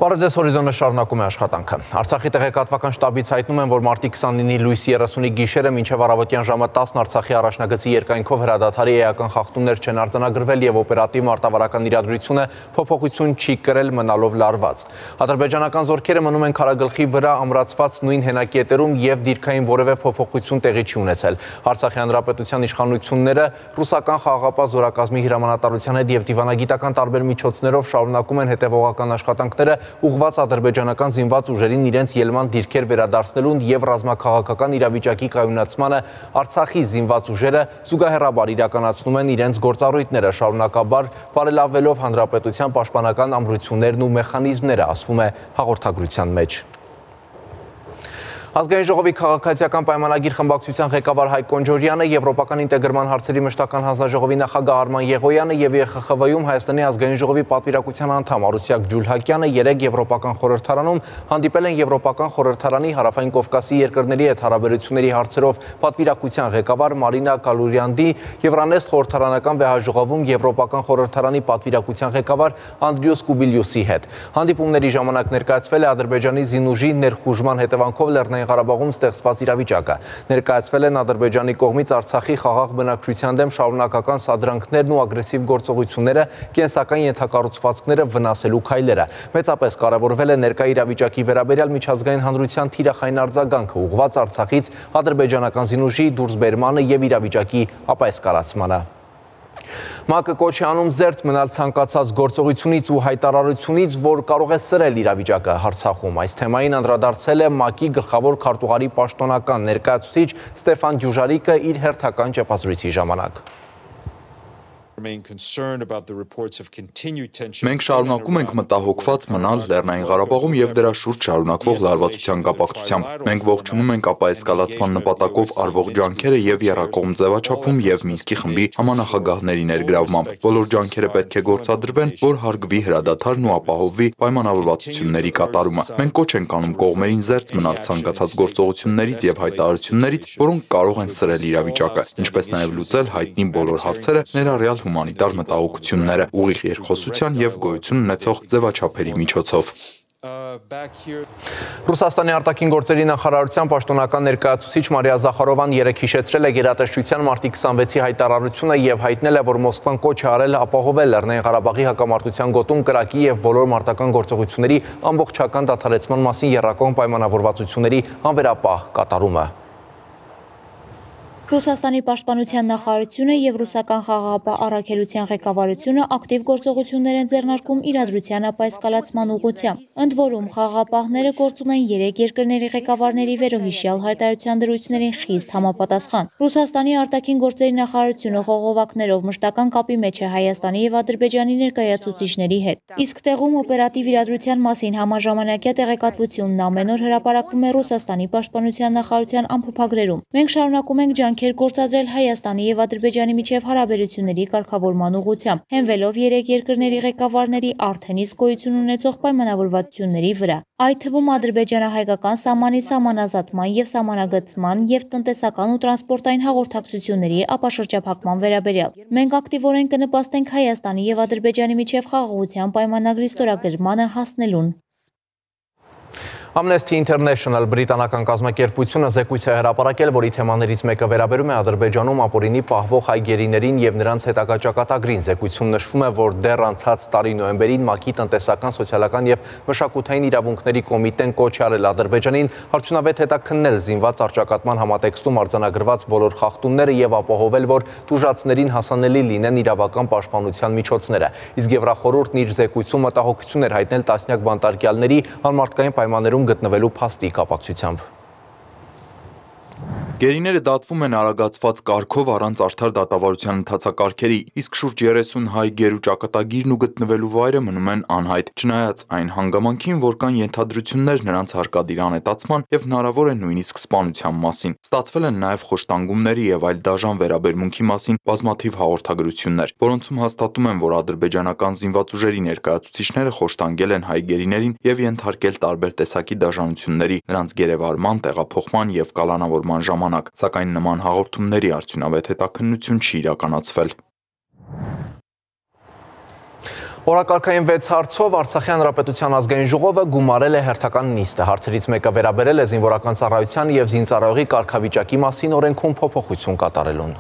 Բարև ձեզ, հորիզոնը շարունակում է աշխատանքը։ Արցախի տեղեկատվական շտաբից հայտնում են, որ մարտի 29-ի լույսի 30-ի գիշերը մինչև առավոտյան ժամը 10 Արցախի առաջնագծի երկայնքով հրադադարի էական խախտումներ չեն արձանագրվել եւ օպերատիվ մարտավարական իրադրությունը փոփոխություն չի կրել, մնալով լարված։ Ադրբեջանական զորքերը մնում են քարագլխի վրա ամրացված նույն հենակետերում եւ դիրքային որևէ փոփոխություն տեղի չի ունեցել։ Արցախի հանրապետության իշխանությունները ռուսական խաղաղապահ զորակազմի հրամանատարության հետ եւ դիվանագիտական տարբեր միջոցներով շարունակում են հետեւողական աշխատանքները ուղղված ադրբեջանական զինված ուժերին իրենց ելման դիրքեր վերադարձնելուն եւ ռազմաքաղաքական իրավիճակի կայունացմանը Արցախի զինված ուժերը զուգահեռաբար իրականացնում են իրենց գործառույթները, շարունակաբար բարելավելով հանրապետության պաշտպանական ամրություններն ու մեխանիզմները, ասվում է հաղորդագրության մեջ։ Ազգային ժողովի քաղաքացիական պայմանագիր խմբակցության ղեկավար Հայկ Կոնջորյանը, Եվրոպական ինտեգրման հարցերի մշտական հանձնաժողովի նախագահ Արման Եղոյանը եւ ԵԽԽՎ-ում Հայաստանի ազգային ժողովի պատվիրակության անդամ Արուսյակ Ջուլհակյանը երեկ Եվրոպական խորհրդարանում հանդիպել են Եվրոպական խորհրդարանի Հարավային Կովկասի երկրների հետ հարաբերությունների հարցերով պատվիրակության ղեկավար Մարինա Կալուրյանդի, Եվրանեստ խորհրդարանական վեհաժողովում Եվրոպական խորհրդարանի պատվիրակության ղեկավար Անդրիոս Կուբիլյուսի հետ։ Հանդիպումների ժամանակ ներկայացվել է Ադրբեջանի զինուժի ներխուժման հետևանքով Լեռնային Ղարաբաղում ստեղծված իրավիճակը։ Ներկայացվել են Ադրբեջանի կողմից Արցախի խաղաղ բնակչության դեմ շարունակական սադրանքներն ու ագրեսիվ գործողությունները, կենսական ենթակառուցվածքները վնասելու քայլերը։ Մեծապես կարևորվել է ներկա իրավիճակի վերաբերյալ միջազգային հանրության թիրախային արձագանքը ուղղված Արցախից ադրբեջանական զինուժի դուրսբերմանը եւ իրավիճակի ապայսկարացմանը։ ՄԱԿ-ը կոչ է անում զերծ մնալ ցանկացած գործողությունից ու հայտարարությունից, որ կարող է սրել իրավիճակը Արցախում։ Այս թեմային անդրադարձել է ՄԱԿ-ի գլխավոր քարտուղարի պաշտոնական ներկայացուցիչ Ստեփան Դյուժարիկը իր հերթական ճեպազրույցի ժամանակ։ Մենք շարունակում ենք մտահոգված մնալ Լեռնային Ղարաբաղում եւ դրա շուրջ շարունակվող լարվածության կապակցությամբ։ Մենք ողջունում ենք ապայսկալացման նպատակով արվող ջանքերը եւ եռակողմ ձևաչափում եւ Մինսկի խմբի համանախագահների ներգրավմամբ։ Բոլոր ջանքերը պետք է գործադրվեն, որ հարգվի հրադադարն ու ապահովվի պայմանավորվածությունների կատարումը։ Մենք կոչ ենք անում կողմերին զերծ մնալ ցանկացած գործողություններից եւ հայտարարություններից, որոնք կարող են սրել իրավիճակը, ինչպես նաեւ լուծել հայտնի բոլոր հարցերը, ներառյալ հումանիտար մտահոգությունները, ուղիղ երկխոսության եւ գոյություն ունեցող ձևաչափերի միջոցով։ Ռուսաստանի արտաքին գործերի նախարարության պաշտոնական ներկայացուցիչ Մարիա Զախարովան երեկ հիշեցրել է գերատեսչության մարտի 26-ի հայտարարությունը եւ հայտնել է, որ Մոսկվան կոչ է արել ապահովել Լեռնային Ղարաբաղի հակամարտության գոտում կրակի եւ բոլոր մարտական գործողությունների ամբողջական դադարեցման մասին եռակողմ պայմանավորվածությունների անվերապահ կատարումը։ Ռուսաստանի պաշտպանության նախարարությունը եւ ռուսական խաղաղապահ առաքելության ղեկավարությունը ակտիվ գործողություններ են ձեռնարկում իրադրության ապայսկալացման ուղղությամբ։ Ընդ որում խաղաղապահները գործում են 3 երկրների ղեկավարների վերոհիշյալ հայտարարության դրույթներին խիստ համապատասխան։ Ռուսաստանի արտաքին գործերի նախարարությունը խողովակներով մշտական կապի մեջ է Հայաստանի եւ Ադրբեջանի ներկայացուցիչների հետ։ Իսկ տեղում օպերատիվ իրադրության մասին համաժամանակյա տեղեկատվությունն ամեն օր հրապարակվում է Ռուսաստանի պաշտպանության նախարարության ամփոփագրերում։ Մենք շարունակում ենք ջանքեր գործադրել Հայաստանի եւ Ադրբեջանի միջև հարաբերությունների կարգավորման ուղղությամբ, հենվելով 3 երկրների ղեկավարների արդեն իսկ գոյություն ունեցող պայմանավորվածությունների վրա, այդ թվում ադրբեջանա-հայկական սահմանի սահմանազատման եւ սահմանագծման եւ տնտեսական ու տրանսպորտային հաղորդակցությունների ապաշրջափակման վերաբերյալ։ Մենք ակտիվորեն կնպաստենք Հայաստանի եւ Ադրբեջանի միջև խաղաղության պայմանագրի ստորագրմանը հասնելուն։ Amnesty International բրիտանական կազմակերպությունը զեկույց է հրապարակել, որի թեմաներից մեկը վերաբերում է Ադրբեջանում ապօրինի պահվող հայ գերիներին եւ նրանց հետագա ճակատագրին։ Զեկույցում նշվում է, որ դեռ անցած տարի նոյեմբերին ՄԱԿ-ի տնտեսական, սոցիալական եւ մշակութային իրավունքների կոմիտեն կոչ է արել Ադրբեջանին արդյունավետ հետաքննել զինված առճակատման համատեքստում արձանագրված բոլոր խախտումները եւ ապահովել, որ տուժածներին հասանելի լինեն իրավական պաշտպանության միջոցները։ Իսկ Եվրախորհուրդն իր զեկույցում մտահոգություն էր հայտնել տասնյակ բանտարկյալների անմարդկային պայմաններում գտնվելու փաստի կապակցությամբ։ Գերիները դատվում են արագացված կարգով առանց արդար դատավարության ընթացակարգերի, իսկ շուրջ 30 հայ գերու ճակատագիրն ու գտնվելու վայրը մնում են անհայտ, չնայած այն հանգամանքին, որ կան ենթադրություններ նրանց հարկադիր անհետացման եւ հնարավոր է նույնիսկ սպանության մասին։ Ստացվել են նաեւ խոշտանգումների եւ այլ դաժան վերաբերմունքի մասին բազմաթիվ հաղորդագրություններ, որոնցում հաստատում են, որ ադրբեջանական զինված ուժերի ներկայացուցիչները խոշտանգել են հայ գերիներին եւ ենթարկել տարբեր տեսակի դաժանությունների, նրանց գերեվարման, տեղափոխման եւ կալանավորման ժամանակ, սակայն նման հաղորդումների արդյունավետ հետաքննություն չի իրականացվել։ Օրակարգային 6 հարցով Արցախի հանրապետության ազգային ժողովը գումարել է հերթական նիստը։ Հարցերից մեկը վերաբերել է զինվորական ծառայության եւ զինծառայողի կարգավիճակի մասին օրենքում փոփոխություն կատարելուն։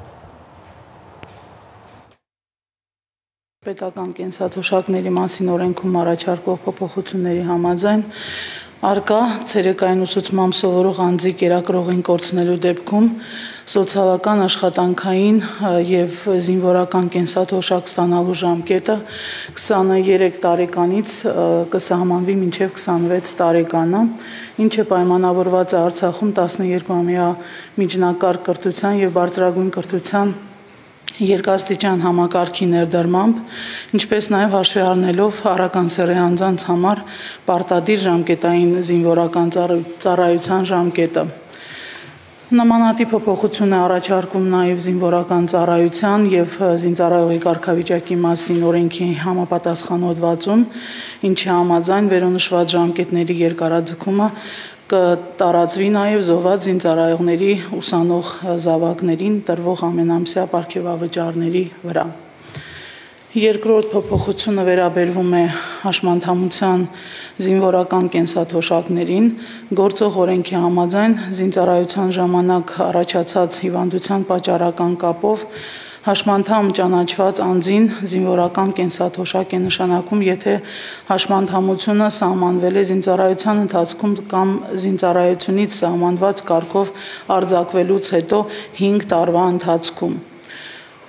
Պետական կենսաթոշակների մասին օրենքում առաջարկվող փոփոխությունների համաձայն արկա ցերեկային ուսուցմամբ սովորող անձի կերակրողին կորցնելու դեպքում սոցիալական աշխատանքային եւ զինվորական կենսաթոշակ ստանալու ժամկետը 23 տարեկանից կսահմանվի մինչեւ 26 տարեկանը, ինչը պայմանավորված է Արցախում 12-ամյա միջնակարգ կրթության եւ բարձրագույն կրթության երկաստիճան համակարգի ներդրմամբ, ինչպես նաև հաշվի առնելով առականսեռի անձանց համար պարտադիր ժամկետային զինվորական ծառայության ժամկետը։ Նմանատիպ փոփոխություն է առաջարկում նաև զինվորական ծառայության եւ զինծառայողի կարգավիճակի մասին օրենքի համապատասխան հոդվածում, ինչի համաձայն վերոնշված ժամկետների երկարաձգումը կտարածվի նաև զոհված զինծառայողների ուսանող զավակներին տրվող ամենամսյա պարգևավճարների վրա։ Երկրորդ փոփոխությունը վերաբերվում է հաշմանդամության զինվորական կենսաթոշակներին, գործող օրենքի համաձայն զինծառայության ժամանակ առաջացած հիվանդության պատճառական կապով հաշմանդամ ճանաչված անձին զինվորական կենսաթոշակ է նշանակում, եթե հաշմանդամությունը սահմանվել է զինծառայության ընթացքում կամ զինծառայությունից սահմանված կարգով արձակվելուց հետո 5 տարվա ընթացքում։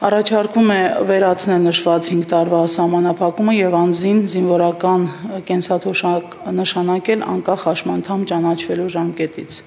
Առաջարկում է վերացնել նշված 5 տարվա սահմանափակումը եւ անձին զինվորական կենսաթոշակ նշանակել անկախ հաշմանդամ ճանաչվելու ժամկետից։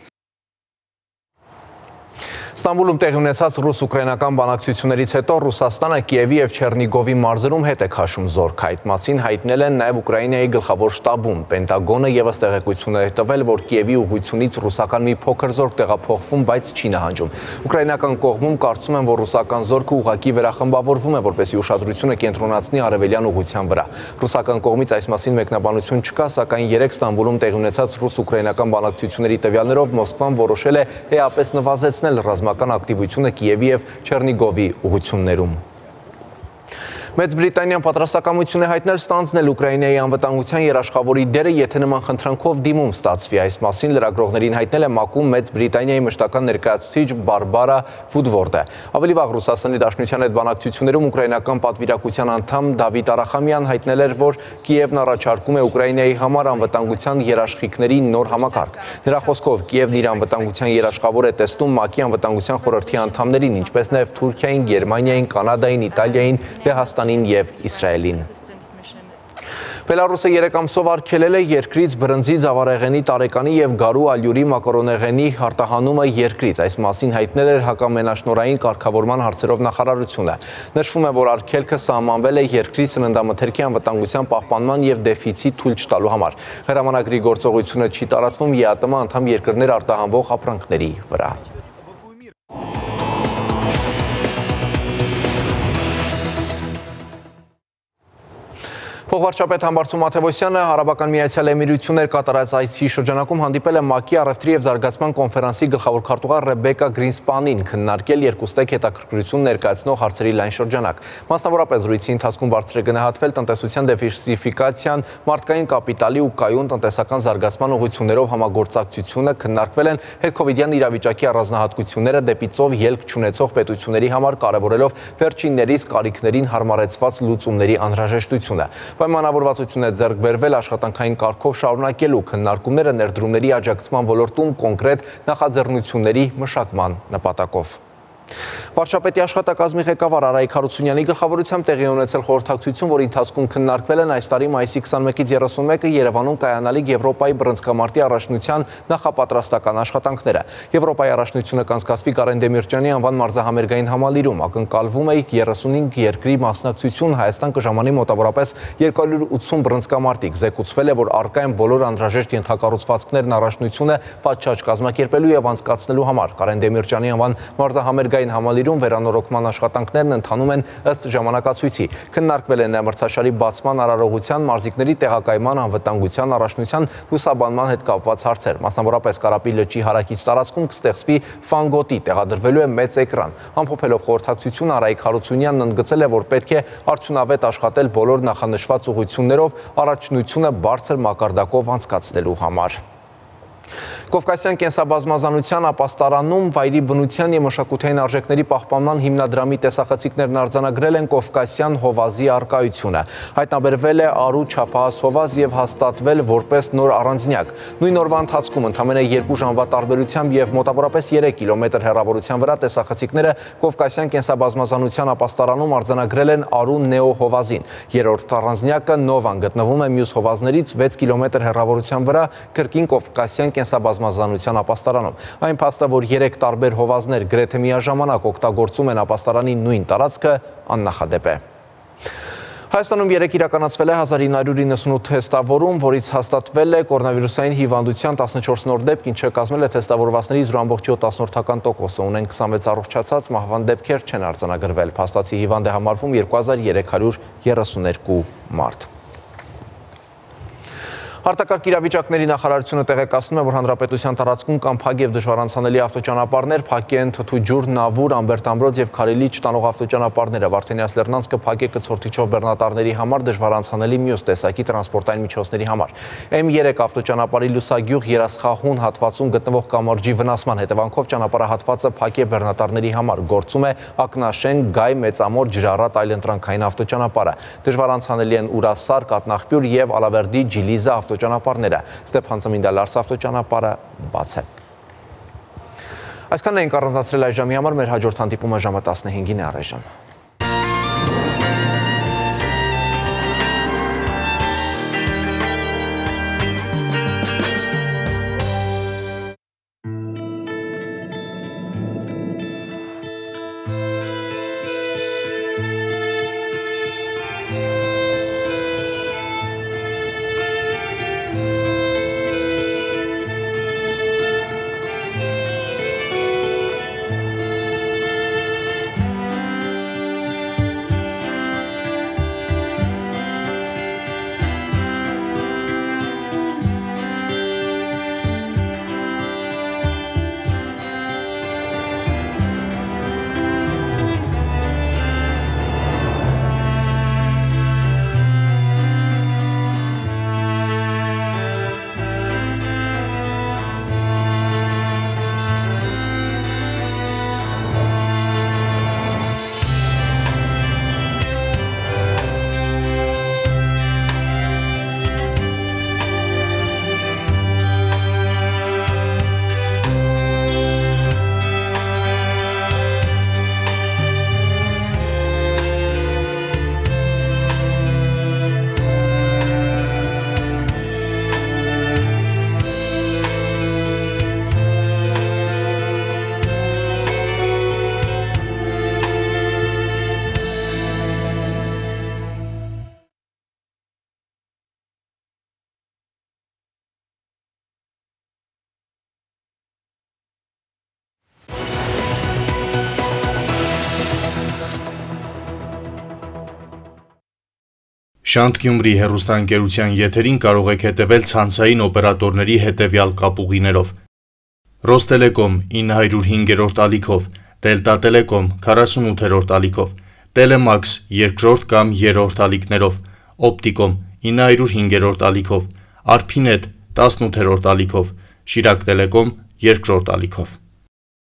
Ստամբուլում տեղի ունեցած ռուս-ուկրաինական բանակցություններից հետո Ռուսաստանը Կիևի եւ Չեռնիգովի մարզերում հետ է քաշում զորք։ Այդ մասին հայտնել են նաեւ Ուկրաինայի գլխավոր շտաբում։ Պենտագոնը եւս տեղեկություններ է տվել, որ Կիևի ուղղությունից ռուսական մի փոքր զորք տեղափոխվում, բայց չի նահանջում։ Ուկրաինական կողմում կարծում են, որ ռուսական զորքը ուղղակի վերախմբավորվում է, որպեսզի ուշադրությունը կենտրոնացնի արևելյան ուղղության վրա։ Ռուսական կողմից այս մասին մեկնաբանություն չկա, սակայն 3 Ստամբուլում տեղի ունեցած ռուս-ուկրաինական բանակցությունների տվյալներով Մոսկվան որոշել է էապես նվազեցնել ռազմական ակտիվությունը Կիևի եւ Չեռնիգովի ուղղություններում։ Մեծ Բրիտանիան պատրաստակամություն է հայտնել ստանձնել Ուկրաինայի անվտանգության երաշխավորի դերը, եթե նման խնդրանքով դիմում ստացվի։ Այս մասին լրագրողներին հայտնել է ՄԱԿ-ում Մեծ Բրիտանիայի մշտական ներկայացուցիչ Բարբարա Վուդվորդը։ Ավելի վաղ Ռուսաստանի Դաշնության հետ բանակցություններում ուկրաինական պատվիրակության անդամ Դավիթ Արախամյան հայտնել էր, որ Կիևն առաջարկում է Ուկրաինայի համար անվտանգության երաշխիքների նոր համակարգ։ Նրա խոսքով Կիևն իր անվտանգության երաշխավոր է տեսնում ՄԱԿ-ի անվտանգության խորհրդի անդամներին, ինչպես նաև Թուրքիային, Գերմանիային, Կանադային, Իտալիային, Լեհաստանին եւ Իսրայելին։ Բելարուսը 3 ամսով արգելել է երկրից բրնձի, ծավարեղենի, տարեկանի եւ գարու ալյուրի մակարոնեղենի արտահանումը երկրից։ Այս մասին հայտնել էր հակամենաշնորհային կարգավորման հարցերով նախարարությունը։ Նշվում է, որ արգելքը սահմանվել է երկրի սննդամթերքի անվտանգության պահպանման եւ դեֆիցիտ թույլ չտալու համար։ Հրամանագրի գործողությունը չի տարածվում ԵԱՏՄ անդամ երկրներ արտահանվող ապրանքների վրա։ Փոխվարչապետ Համբարձում Մաթևոսյանը Արաբական Միացյալ Էմիրություններ կատարած այցի շրջանակում հանդիպել է ՄԱԿ-ի առևտրի եւ զարգացման կոնֆերանսի գլխավոր քարտուղար Ռեբեկա Գրինսպանին, քննարկել երկուստեք հետաքրքրություն ներկայացնող հարցերի լայն շրջանակ։ Մասնավորապես զրույցի ընթացքում բարձր է գնահատվել տնտեսության դիվերսիֆիկացիան, մարդկային կապիտալի ու կայուն տնտեսական զարգացման ուղղություններով համագործակցությունը, քննարկվել են հետքովիդյան իրավիճակի առանձնահատկությունները դեպի ծով ելք չունեցող պետությունների համար, կարևորելով վերջիններիս կարիքներին հարմարեցված լուծումների անհրաժեշտությունը։ Պայմանավորվածություն է ձեռք բերվել աշխատանքային կարգով շարունակելու քննարկումները ներդրումների աջակցման ոլորտում կոնկրետ նախաձեռնությունների մշակման նպատակով։ Վարչապետի աշխատակազմի ղեկավար Արայիկ Հարությունյանի գլխավորությամբ տեղի ունեցել խորհրդակցություն, որի ընթացքում քննարկվել են այս տարի մայիսի 21-ից 31-ը Երևանում կայանալիք Եվրոպայի բռնցքամարտի առաջնության նախապատրաստական աշխատանքները։ Եվրոպայի առաջնությունը կանցկացվի Կարեն Դեմիրճյանի անվան մարզահամերգային համալիրում, ակնկալվում է 35 երկրի մասնակցություն, Հայաստան կժամանի մոտավորապես 280 բռնցքամարտիկ։ Զեկուցվել է, որ առկա են բոլոր անհրաժեշտ ենթակառուցվածքներն առաջնությունը պատշաճ կազմակերպելու եւ անցկացնելու համար։ Կարեն Դեմիրճյանի անվան մարզահամերգային Բուլղարիային համալիրում վերանորոգման աշխատանքներն ընթանում են ըստ ժամանակացույցի։ Քննարկվել են մրցաշարի բացման արարողության, մարզիկների տեղակայման, անվտանգության, առաջնության, լուսաբանման հետ կապված հարցեր։ Մասնավորապես Կարապի լճի հարակից տարածքում կստեղծվի ֆանգոտի, տեղադրվելու է մեծ էկրան։ Ամփոփելով խորհրդակցությունը Արայիկ Հարությունյանն ընդգծել է, որ պետք է արդյունավետ աշխատել բոլոր նախանշված ուղղություններով առաջնությունը բարձր մակարդակով անցկացնելու համար։ Կովկասյան կենսաբազմազանության ապաստարանում վայրի բնության և մշակութային արժեքների պահպանման հիմնադրամի տեսախցիկներն արձանագրել են Կովկասյան հովազի առկայությունը։ Հայտնաբերվել է Արու չափահաս հովազ և հաստատվել որպես նոր առանձնյակ։ Նույն օրվա ընթացքում ընդամենը 2 ժամվա տարբերությամբ և մոտավորապես 3 կիլոմետր հեռավորության վրա տեսախցիկները Կովկասյան կենսաբազմազանության ապաստարանում արձանագրել են Արու նեո հովազին։ Երրորդ առանձնյակը Նովան գտնվում է մյուս հովազներից 6 կիլոմետր հեռավորության վրա կրկին Կովկասյան կենսաբազմազանության ապաստարանում։ Այն փաստը, որ 3 տարբեր հովազներ գրեթե միաժամանակ օգտագործում են ապաստարանի նույն տարածքը, աննախադեպ է։ Հայաստանում երեկ իրականացվել է 1998 թեստավորում, որից հաստատվել է կորոնավիրուսային հիվանդության 14 նոր դեպք, ինչը կազմել է թեստավորվածների 0.7%, ունեն 26 առողջացած, մահվան դեպքեր չեն արձանագրվել։ Փաստացի հիվանդ է համարվում 2332 մարդ։ Արտակարգ իրավիճակների նախարարությունը տեղեկացնում է, որ հանրապետության տարածքում կան փակ և դժվարանցանելի ավտոճանապարհներ, փակ են Թթուջուր, Նավուր, Ամբերտ Ամրոց և Քարիլիչ տանող ավտոճանապարհները։ Վարդենյաց Լեռնանցքը փակ է կցորդիչով բեռնատարների համար, դժվարանցանելի մյուս տեսակի տրանսպորտային միջոցների համար։ M3 ավտոճանապարհի Լուսագյուղ Երասխահուն հատվածում գտնվող կամրջի վնասման հետևանքով ճանապարհահատվածը փակ է բեռնատարների համար։ Գործում է Ակնաշեն, Գայ, Մեծամոր, Ջրառատ այլընտրանքային ավտոճանապարհը։ Դժվարանցանելի են Ուրասար, Կատնախպյուր և Ալավերդի Ջիլիզա ավտոճանապարհները, Ստեփան Ծմինդալարս ավտոճանապարհը բաց է։ Այսքանն էինք առանձնացրել այս ժամի համար, մեր հաջորդ հանդիպումը ժամը 15-ին է առայժմ։ Շանթ Գյումրի հեռուստաընկերության եթերին կարող եք հետևել ցանցային օպերատորների հետևյալ կապուղիներով. Ռոստելեկոմ 905-րդ ալիքով, Դելտա Տելեկոմ 48-րդ ալիքով, Տելեմաքս 2-րդ կամ 3-րդ ալիքներով, Օպտիկոմ 905-րդ ալիքով, Արփինետ 18-րդ ալիքով, Շիրակ Տելեկոմ 2-րդ ալիքով։